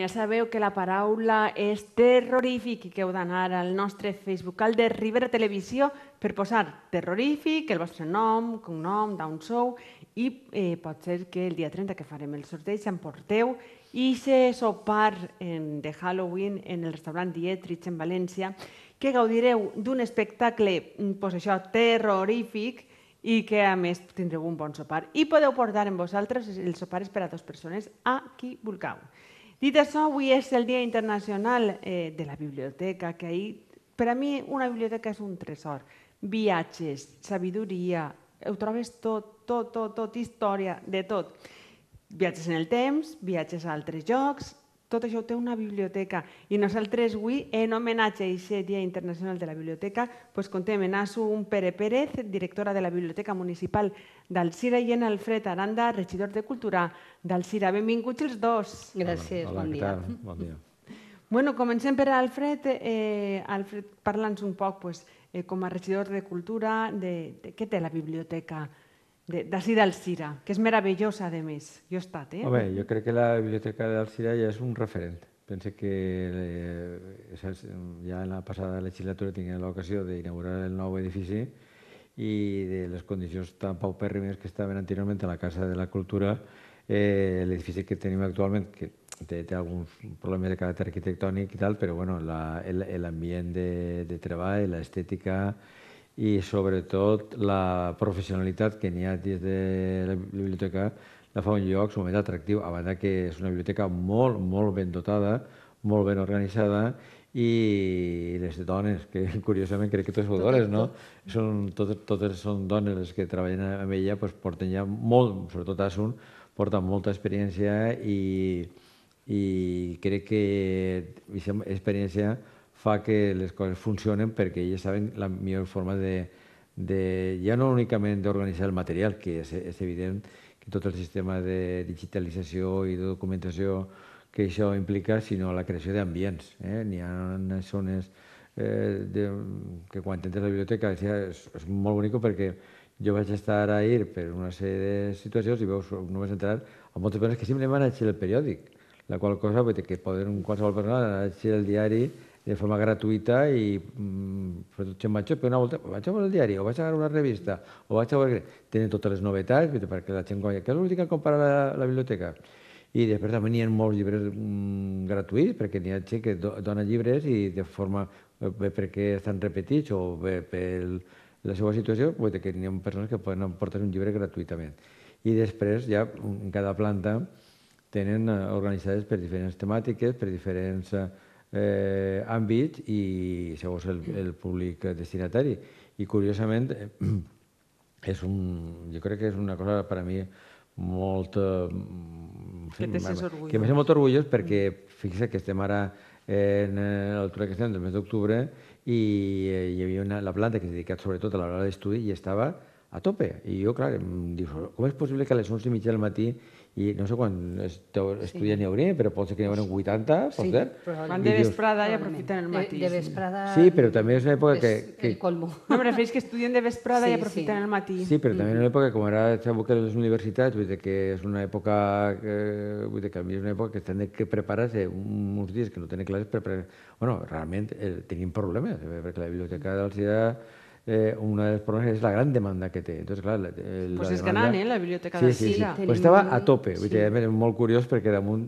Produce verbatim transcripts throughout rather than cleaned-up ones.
ja sabeu que la paraula és terrorífic i que heu d'anar al nostre Facebook, al de Ribera Televisió, per posar terrorífic, el vostre nom, cognom, d'on sou, i eh, pot ser que el dia trenta que farem el sorteig emporteu i se sopar en, de Halloween en el restaurant Dietrich en València, que gaudireu d'un espectacle, pues això, terrorífic, i que a més tindreu un bon sopar. I podeu portar amb vosaltres, el sopar és per a dues persones, a qui vulgueu. Dit això, avui és el Dia Internacional eh, de la Biblioteca, que ahir, per a mi una biblioteca és un tresor. Viatges, sabidoria, ho trobes tot, tot, tot, tot, història, de tot. Viatges en el temps, viatges a altres llocs, tot això ho té una biblioteca. I nosaltres avui, en homenatge a aquest Dia Internacional de la Biblioteca, pues, contem en Asu Pere Pérez, directora de la Biblioteca Municipal d'Alzira, i en Alfred Aranda, regidor de Cultura d'Alzira. Benvinguts els dos. Gràcies, Hola, bon què dia. tal? Bon dia. Bueno, comencem per Alfred. Eh, Alfred, parla'ns un poc, pues, eh, com a regidor de Cultura, de, de què té la biblioteca d'ací d'Alzira, que és meravellosa, a més. Jo he estat, eh? Home, jo crec que la biblioteca d'Alzira ja és un referent. Penso que eh, ja en la passada legislatura tinguem l'ocasió d'inaugurar el nou edifici i de les condicions tan paupèrrimes que estaven anteriorment a la Casa de la Cultura, eh, l'edifici que tenim actualment, que té, té alguns problemes de caràcter arquitectònic i tal, però bueno, l'ambient de, de treball, l'estètica i sobretot la professionalitat que n'hi ha dins de la biblioteca la fa un lloc sumament atractiu, a banda que és una biblioteca molt, molt ben dotada, molt ben organitzada, i les dones, que curiosament crec que totes són dones, no? Són, totes, totes són dones les que treballen amb ella, doncs porten ja molt, sobretot Asun, porten molta experiència i, i crec que aquesta experiència fa que les coses funcionen perquè ells saben la millor forma de, de ja no únicament d'organitzar el material, que és, és evident que tot el sistema de digitalització i de documentació que això implica, sinó la creació d'ambients. Eh? N'hi ha zones eh, de, que quan entres a la biblioteca és, és molt bonic perquè jo vaig estar ahir per una sèrie de situacions i veus, no vas entrar a moltes persones que simplement van a llegir el periòdic, la qual cosa vull dir, que poden qualsevol persona anar a llegir el diari de forma gratuïta i sobretot gent major, però una volta vaig a veure el diari o vaig a veure una revista o vaig a veure... Tenen totes les novetats perquè la gent guanya. Què és l'últim que compara la, la biblioteca? I després també n'hi ha molts llibres mm, gratuïts perquè n'hi ha gent que do, dona llibres i de forma bé perquè estan repetits o bé per la seva situació, vull dir que n'hi ha persones que poden portar un llibre gratuïtament. I després ja en cada planta tenen organitzades per diferents temàtiques, per diferents eh, àmbits i segons el, el públic destinatari. I curiosament, és un, jo crec que és una cosa per a mi molt... Que te sents orgullós. Que me sent molt orgullós perquè fixa que estem ara en l'altura que estem del mes d'octubre i hi havia una, la planta que s'ha dedicat sobretot a l'hora d'estudi i estava a tope. I jo, clar, em dius, com és possible que a les onze i mitja del matí i no sé quan estudiants n'hi hauria, però pot ser que n'hi hauria vuitanta, pot ser? Quan de vesprada ja aprofiten el matí. De vesprada... Sí, però també és una època que... El colmo. No, em refereix que estudien de vesprada i aprofiten el matí. Sí, però també és una època, com ara sabeu que les universitats, vull dir que és una època que, vull dir que a mi és una època que estan de preparar-se uns dies que no tenen classes per... Bueno, realment tenim problemes, perquè la biblioteca d'Alzira Eh, una de los problemas es la gran demanda que té. Entonces, clar, la, la pues és demanda... gran, eh, la biblioteca sí, d'Alzira. Sí, sí. Pues estava a tope. Sí. És molt curiós perquè damunt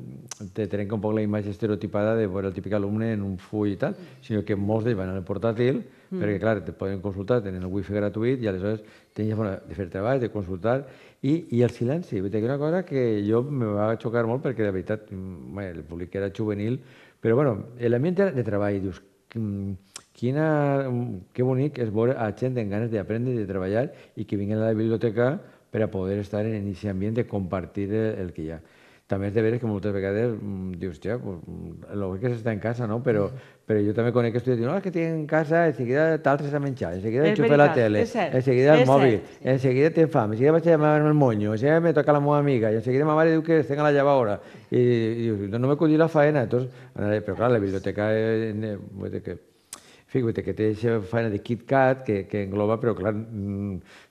te trenca un poc la imatge estereotipada de veure el típic alumne en un full i tal, sinó que molts d'ells van al portàtil, mm. perquè, clar, te poden consultar, tenen el wifi gratuït i aleshores tenen forma de fer treball, de consultar, i, i el silenci. Vull dir que una cosa que jo me va xocar molt perquè, de veritat, bé, el públic era juvenil, però, bueno, l'ambient de treball, dius, quina, que bonic és veure a gent amb ganes d'aprendre i de treballar i que vinguin a la biblioteca per a poder estar en aquest ambient de compartir el que hi ha. També és de veres que moltes vegades dius, ja, el que s'està en casa, no? Però, però jo també conec estudiants que diuen, no, és que tinc en casa, en seguida t'altres a menjar, en seguida enxufa la tele, en seguida el mòbil, en seguida tinc fam, en seguida vaig a llamar el monyo, en seguida me toca la meva amiga, i en seguida ma mare diu que estic a la llavadora, i dius, no m'he acudit la faena. Entonces, però clar, la biblioteca, vull dir que Fíjate que té aquesta feina de KitKat que engloba, però clar,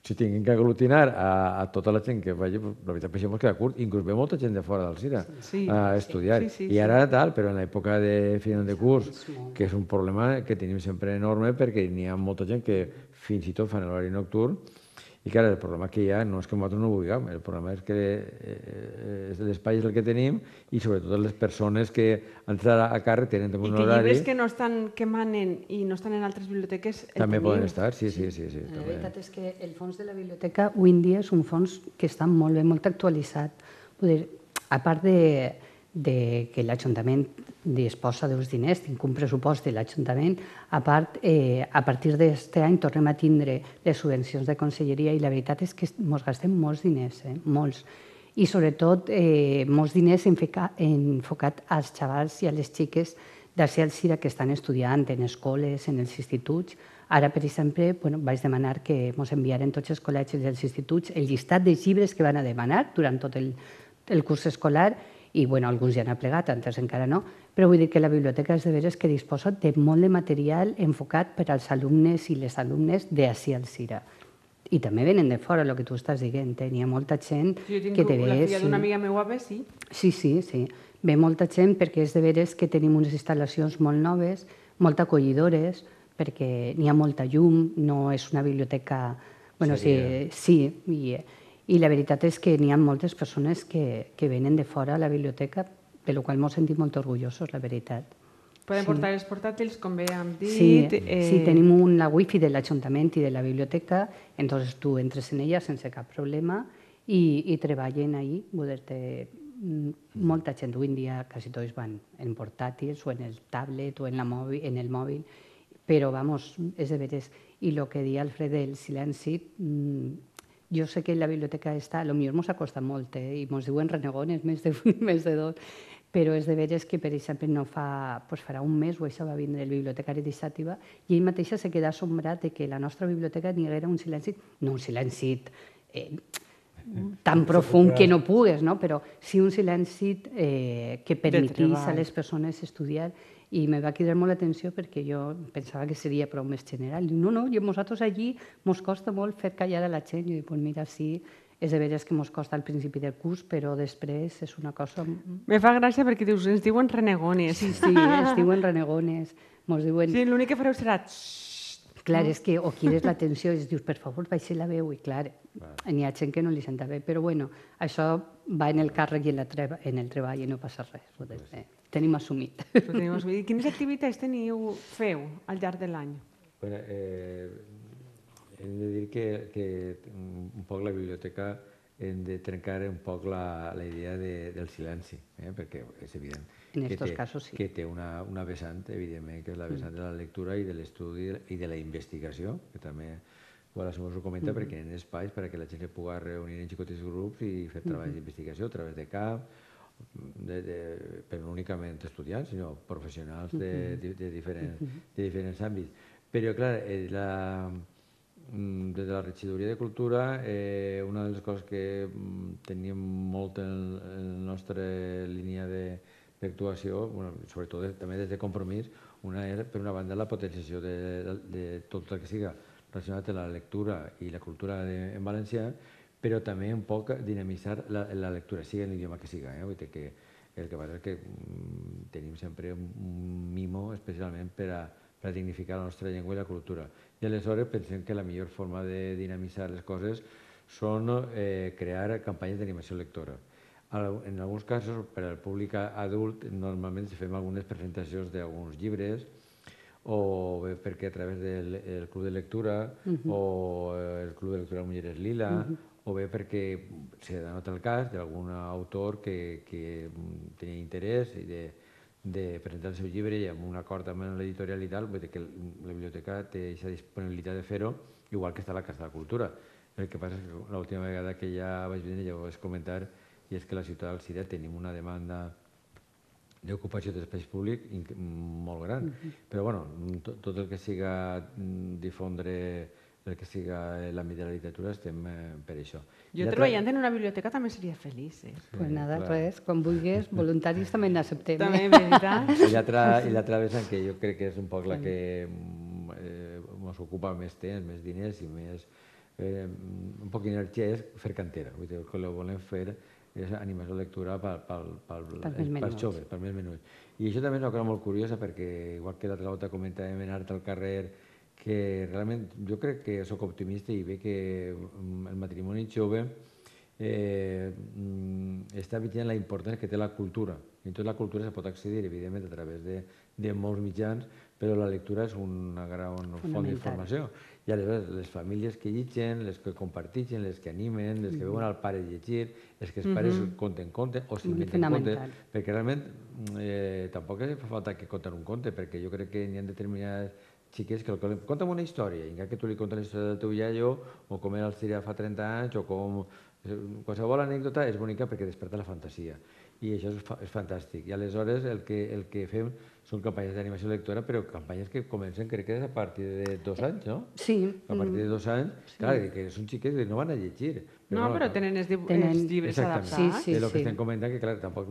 si tinguin que aglutinar a tota la gent que vagi, la veritat, per això mos queda curt. Inclús ve molta gent de fora del CIRA a estudiar. I ara tal, però en l'època de final de curs, que és un problema que tenim sempre enorme perquè n'hi ha molta gent que fins i tot fan l'horari nocturn. I clar, el problema que hi ha no és que nosaltres no ho vulguem, el problema és que l'espai és el que tenim i sobretot les persones que han estat a càrrec tenen un horari... I que llibres que no estan, que manen i no estan en altres biblioteques el també tenim. poden estar, sí, sí, sí. La veritat és que el fons de la biblioteca avui en dia és un fons que està molt bé, molt actualitzat. A part de que l'Ajuntament disposa d'uns diners, tinc un pressupost de l'Ajuntament, a part, a partir d'aquest any tornem a tindre les subvencions de conselleria i la veritat és que ens gastem molts diners, molts. I sobretot molts diners enfocats als xavals i a les xiques d'Ací al Cira que estan estudiant en escoles, en els instituts. Ara, per exemple, vaig demanar que ens enviaren tots els col·legis i els instituts el llistat de llibres que van a demanar durant tot el curs escolar i alguns ja han plegat, altres encara no, però vull dir que la biblioteca és de veres que disposa de molt de material enfocat per als alumnes i les alumnes d'Ací al Cira. I també venen de fora, el que tu estàs dient, n'hi ha molta gent que te ve... Jo tinc la filla d'una amiga meva, sí. Sí, sí, sí. Ve molta gent perquè és de veres que tenim unes instal·lacions molt noves, molt acollidores, perquè n'hi ha molta llum, no és una biblioteca... Sí, i la veritat és que n'hi ha moltes persones que venen de fora a la biblioteca, de la qual ens sentim molt orgullosos, la veritat. Poden portar els portàtils, com bé hem dit. Sí, tenim la wifi de l'Ajuntament i de la biblioteca, entonces tu entres en ella sense cap problema i treballen ahí. Molta gent avui en dia, quasi tots van en portàtils o en el tablet o en el mòbil, però, vamos, és de veres. I el que deia Alfred del silenci, jo sé que la biblioteca està, potser ens ha costat molt, i ens diuen renegones, més de dos, però és de veres que, per exemple, no fa, farà un mes o això va vindre el bibliotecari de Xàtiva i ell mateixa se queda assombrat que la nostra biblioteca n'hi haguera un silenci, no un silenci tan profund que no pugues, però sí un silenci que permetís a les persones estudiar. I me va cridar molt l'atenció perquè jo pensava que seria prou més general. Diu, no, no, i a nosaltres allí ens costa molt fer callar a la gent. I dic, doncs mira, sí, és de veres que ens costa al principi del curs, però després és una cosa... Me fa gràcia perquè dius, ens diuen renegones. Sí, sí, ens diuen renegones. Sí, l'únic que fareu serà... Clar, és que o crides l'atenció i dius, per favor, baixi la veu, i clar, n'hi ha gent que no li senta bé, però bueno, això va en el càrrec i en el treball i no passa res, tenim assumit. Quines activitats teniu, feu al llarg de l'any? Hem de dir que un poc la biblioteca hem de trencar un poc la idea del silenci, perquè és evident que té una vessant, evidentment, que és la vessant de la lectura i de l'estudi i de la investigació, que també ho comenta, perquè hi ha espais perquè la gent es pugui reunir en xicotets grups i fer treballs d'investigació a través de camp, però no únicament estudiants, sinó professionals de diferents àmbits. Però, clar, des de la regidoria de Cultura, una de les coses que teníem molt en la nostra línia d'actuació, sobretot també des de Compromís, una és, per una banda, la potenciació de tot el que siga relacionat amb la lectura i la cultura en valencià, però també un poc dinamitzar la lectura, sigui en l'idioma que siga. El que passa és que tenim sempre un mimo especialment per a dignificar la nostra llengua i la cultura. I aleshores pensem que la millor forma de dinamitzar les coses són crear campanyes d'animació lectora. En alguns casos, per al públic adult, normalment fem algunes presentacions d'alguns llibres, o bé perquè a través del Club de Lectura o el Club de Lectura de Mulleres Lila, o bé perquè s'ha donat el cas d'algun autor que tenia interès de presentar el seu llibre i amb un acord amb l'editorial i tal, vull dir que la biblioteca té aquesta disponibilitat de fer-ho, igual que està a la Casa de la Cultura. El que passa és que l'última vegada que ja vaig venir ja ho vaig comentar, i és que a la ciutat del Cira tenim una demanda d'ocupació d'espais públic molt gran. Però, bueno, tot el que siga difondre el que siga l'àmbit de la literatura estem per això. Jo treballant en una biblioteca també seria feliç. Pues nada, res, quan vulguis, voluntaris també n'acceptem. També, veritat. I l'altra vessant, que jo crec que és un poc la que ens ocupa més temps, més diners i més eh, un poc d'energia és fer cantera. Vull dir, el que volem fer és animació de lectura per, per, per, pels joves, per més menuts. I això també és una cosa molt curiosa perquè, igual que l'altra volta comentàvem en art al carrer, que realment jo crec que sóc optimista i veig que el matrimoni jove eh, està veient la importància que té la cultura. I en tot la cultura se pot accedir, evidentment, a través de, de molts mitjans, però la lectura és una gran font d'informació. I aleshores les famílies que llegeixen, les que comparteixen, les que animen, les que veuen al pare llegir, els que els pares conten contes o s'inventen contes, perquè realment eh, tampoc fa falta que conten un conte, perquè jo crec que n'hi ha determinades xiques que el conta'm una història, i encara que tu li contes la història del teu iaio, o com era el Síria fa trenta anys, o com... Qualsevol anècdota és bonica perquè desperta la fantasia. I això és, fa, és fantàstic. I aleshores el que, el que fem són campanyes d'animació lectora, però campanyes que comencen, crec que és a partir de dos anys, no? Sí. A partir de dos anys, sí. Clar, que són xiques que no van a llegir. Però no, no, però tenen els, tenen... els llibres adaptats. Sí, sí, és el que sí. estem comentant, que clar, tampoc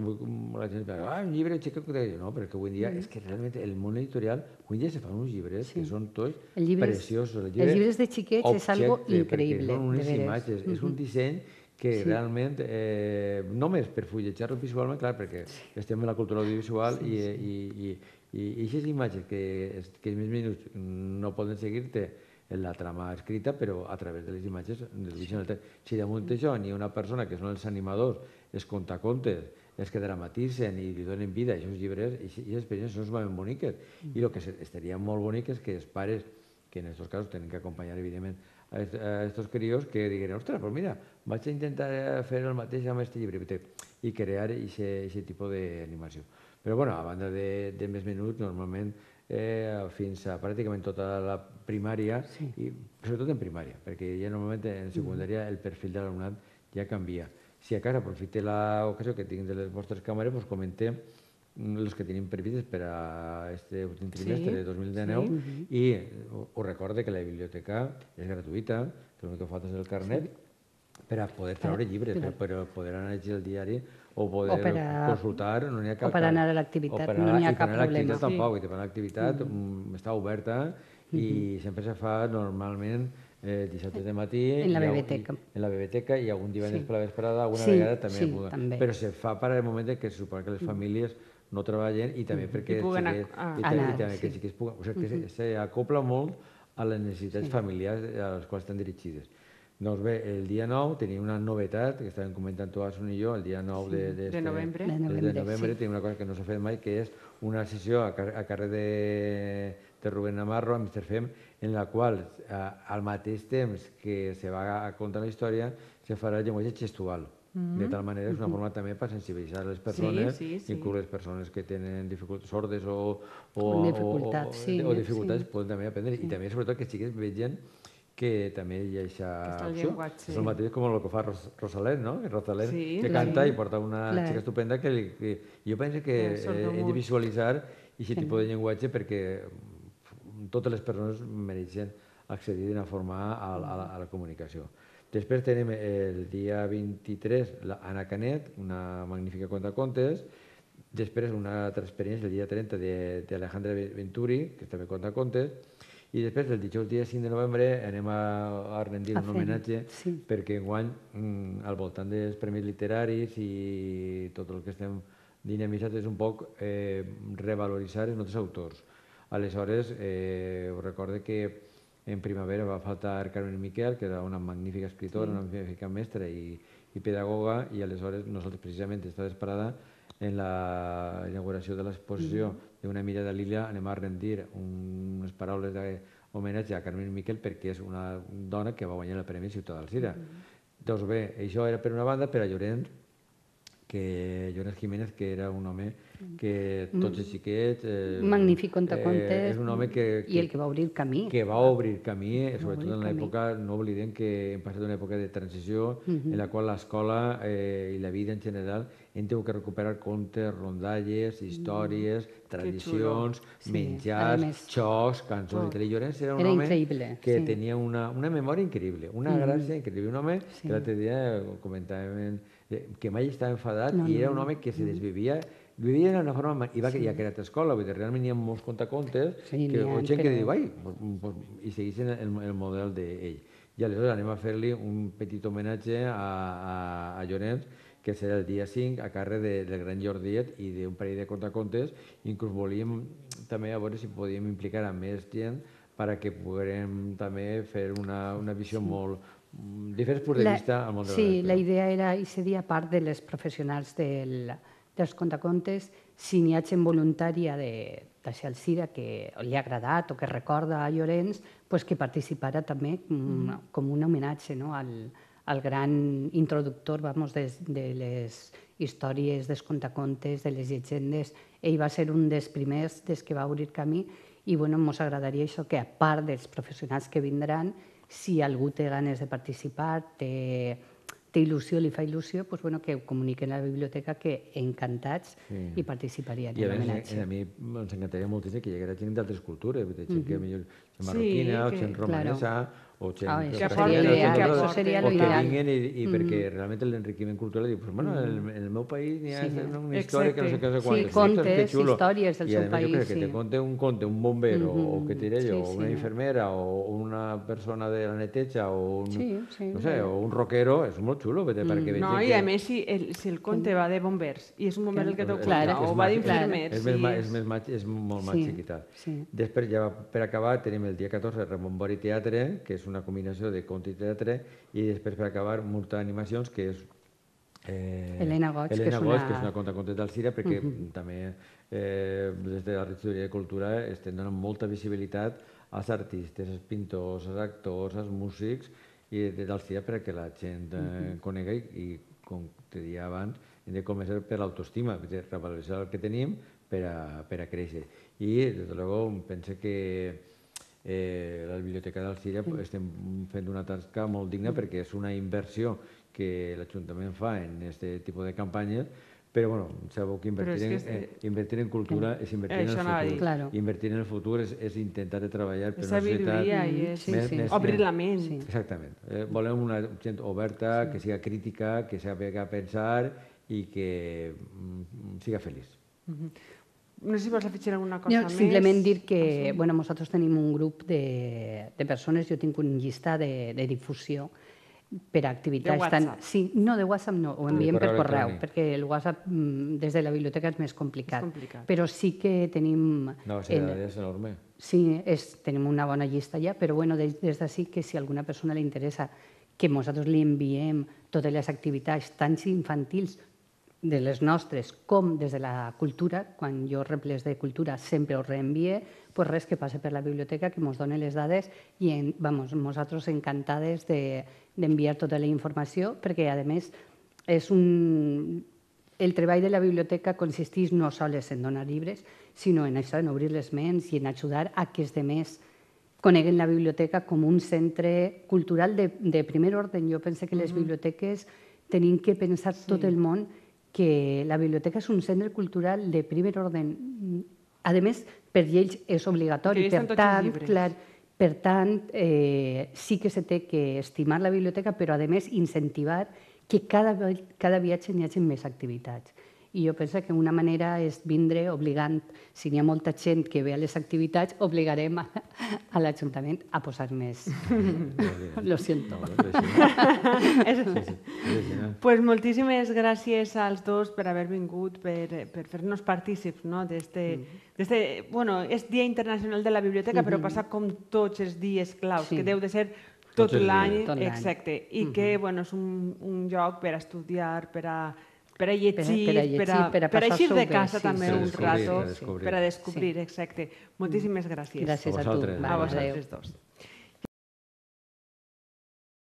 la gent diu, ah, un llibre xica... No, però que avui dia, mm. és que realment el món editorial, avui dia se fan uns llibres sí. que són tots llibres, preciosos. Els llibres, els llibres de xiquets és algo increïble. Són unes imatges, mm -hmm. és un disseny que sí. realment, eh, només per fulletjar-lo visualment, clar, perquè estem en la cultura audiovisual sí, sí. i i aquestes imatges que, que els més minuts no poden seguir-te en la trama escrita, però a través de les imatges del si damunt d'això n'hi ha una persona que són els animadors, els contacontes, els que dramatitzen i li donen vida a aquests llibres, i aquestes experiències són molt boniques. I el que estaria molt bonic és que els pares, que en aquests casos tenen que acompanyar, evidentment, a aquests crios, que diguin, ostres, però mira, vaig a intentar fer el mateix amb aquest llibre i crear aquest tipus d'animació. Però, bueno, a banda de, de més menuts, normalment eh, fins a pràcticament tota la primària, sí. i sobretot en primària, perquè ja normalment en secundària el perfil de l'alumnat ja canvia. Si a casa aprofite l'ocasió que tinc de les vostres càmeres, us comentem els que tenim previstes per a aquest últim trimestre sí, de dos mil dinou sí. i us recorde que la biblioteca és gratuïta, que l'únic que falta és el carnet, sí. per a poder treure llibres, per, per poder anar a llegir el diari o poder o per a, consultar, no n'hi ha cap... O per anar a l'activitat, no n'hi ha cap problema. I per anar a l'activitat tampoc, sí. l'activitat mm. està oberta i mm-hmm. sempre se fa normalment eh, dissabtes de matí... En la biblioteca. En la biblioteca i algun divendres sí. per la vesprada, alguna sí, vegada també. Sí, també. Però se fa per al moment que se supone que les famílies no treballen i també perquè I puguen xiquets, a, a, i també sí. que xiquets puguen... O sigui, que s'acopla molt a les necessitats sí. familiars a les quals estan dirigides. Doncs bé, el dia nou tenia una novetat, que estàvem comentant tu, Asun i jo, el dia nou sí. de, de, de novembre, de novembre, de novembre sí. tenim una cosa que no s'ha fet mai, que és una sessió a, a carrer de, de Rubén Navarro, a mister Fem, en la qual, a, al mateix temps que se va a contar la història, se farà el llenguatge gestual. Mm-hmm. De tal manera és una forma també per sensibilitzar les persones, sí, sí, sí. inclús les persones que tenen dificultats sordes o, o, o dificultats, o, sí, o dificultats sí. poden també aprendre. Sí. I també, sobretot, que xiquets vegin que també hi ha aquesta opció. És el mateix com el que fa Ros Rosalén, no? Rosalén sí, que canta sí. i porta una clar. xica estupenda que, li, que jo penso que eh, hem de visualitzar aquest tipus de llenguatge perquè totes les persones mereixen accedir d'una forma a, a, la, a la comunicació. Després tenim el dia vint-i-tres l'Anna Canet, una magnífica contacontes. Després una altra experiència, el dia trenta, d'Alejandra Venturi, que també conta contes. I després, el dijous dia cinc de novembre, anem a, a rendir un homenatge sí. perquè enguany, al voltant dels premis literaris i tot el que estem dinamitzats és un poc eh, revaloritzar els nostres autors. Aleshores, eh, us recorde que en primavera va faltar Carmen Miquel, que era una magnífica escritora, sí. una magnífica mestra i, i pedagoga, i aleshores nosaltres precisament està esperada en la inauguració de l'exposició mm. d'una mirada a l'illa anem a rendir unes paraules d'homenatge a Carmen Miquel perquè és una dona que va guanyar el Premi Ciutat d'Alzira. Mm. Doncs bé, això era per una banda, per a Llorenç, que Llorenç Jiménez, que era un home que tots els xiquets... Eh, magnífic contacontes, eh, és un home que, que, i el que va obrir camí. Que va obrir camí, sobretot en l'època, no oblidem que hem passat una època de transició uh-huh. en la qual l'escola eh, i la vida en general hem tingut que recuperar contes, rondalles, històries, mm. tradicions, sí. menjars, més... xocs, cançons... Oh. I Llorenç era un era home increïble, que sí. tenia una, una memòria increïble, una mm. gràcia increïble. Un home sí. que l'altre dia comentàvem en, que mai estava enfadat i era un home que se desvivia, vivia d'una forma, i va que ja que era a escola, vull dir, realment hi ha molts contacontes, que o gent que diu, ai, i segueixen el model d'ell. I aleshores anem a fer-li un petit homenatge a Llorenç, que serà el dia cinc, a càrrec del gran Jordiet i d'un parell de contacontes. Inclús volíem també a veure si podíem implicar a més gent perquè poguérem també fer una visió molt diferents punts de vista al món de la lectura. Sí, la idea era, i seria part de les professionals dels contacontes, si n'hi ha gent voluntària d'això al Cira que li ha agradat o que recorda a Llorenç, que participara també com un homenatge al gran introductor de les històries, dels contacontes, de les llegendes. Ell va ser un dels primers des que va obrir camí i ens agradaria això, que a part dels professionals que vindran, si algú té ganes de participar, té il·lusió, li fa il·lusió, que ho comuniquen a la biblioteca, que encantats hi participarien en l'homenatge. I a mi ens encantaria moltíssim que hi haguera gent d'altres cultures, gent que millor gent marroquina, o gent romanesa, o gent que vinguin, i perquè realment l'enriquiment cultural, diu, bueno, en el meu país n'hi ha una història que no sé què sé quant. Sí, contes, històries del seu país. I a més, que te conte un conte, un bomber, o que diré jo, o una infermera, o una persona de la neteja, o un rockero, és molt xulo. No, i a més, si el conte va de bombers, i és un bomber el que t'ho conta, o va d'infermers... És molt més xiquitat. Després, ja per acabar, tenim el dia catorze Ramon Bori Teatre, que és una combinació de conte i teatre, i després per acabar Multa d'animacions, que és Helena Goig, que és una contacontes d'Alzira, perquè també des de la regidoria de Cultura estem donant molta visibilitat als artistes, als pintors, als actors, als músics i d'Alzira perquè la gent conega i, com te deia abans, hem de començar per l'autoestima, revaloritzar el que tenim per a créixer. I, des de luego, penso que la Biblioteca d'Alzira estem fent una tasca molt digna perquè és una inversió que l'Ajuntament fa en aquest tipus de campanyes, però sabeu que invertir en cultura és invertir en el futur. Invertir en el futur és intentar treballar per una societat més... Obrir la ment. Exactament. Volem una gent oberta, que siga crítica, que sàpiga pensar i que siga feliç. No sé si vols afegir alguna cosa més. Simplement dir que nosaltres tenim un grup de persones, jo tinc un llistat de difusió per a activitats... De WhatsApp? Sí, no, de WhatsApp no, ho enviem per correu, perquè el WhatsApp des de la biblioteca és més complicat. Però sí que tenim... No, és enorme. Sí, tenim una bona llista ja, però des d'ací que si a alguna persona li interessa que nosaltres li enviem totes les activitats, tant infantils, de les nostres com des de la cultura, quan jo rep les de cultura sempre ho reenvie, doncs res, que passe per la biblioteca, que ens doni les dades i nosaltres encantades d'enviar tota la informació, perquè a més el treball de la biblioteca consisteix no sols en donar llibres, sinó en això, en obrir les ments i en ajudar a que els altres coneguen la biblioteca com un centre cultural de primer ordre. Jo penso que les biblioteques tenim que pensar tot el món que la biblioteca és un centre cultural de primer ordre. A més, per lleis és obligatori. Per tant, sí que se té que estimar la biblioteca, però a més incentivar que cada viatge n'hi hagi més activitats. I jo penso que una manera és vindre obligant, si n'hi ha molta gent que ve a les activitats, obligarem a l'Ajuntament a posar més. Lo siento. Pues moltíssimes gràcies als dos per haver vingut, per fer-nos partícips d'este... Bueno, és Dia Internacional de la Biblioteca, però passa com tots els dies claus, que deu de ser tot l'any, exacte, i que és un lloc per a estudiar, per a per a llegir, per a eixir de casa també un rato, per a descobrir, exacte. Moltíssimes gràcies. Gràcies a tu. A vosaltres dos.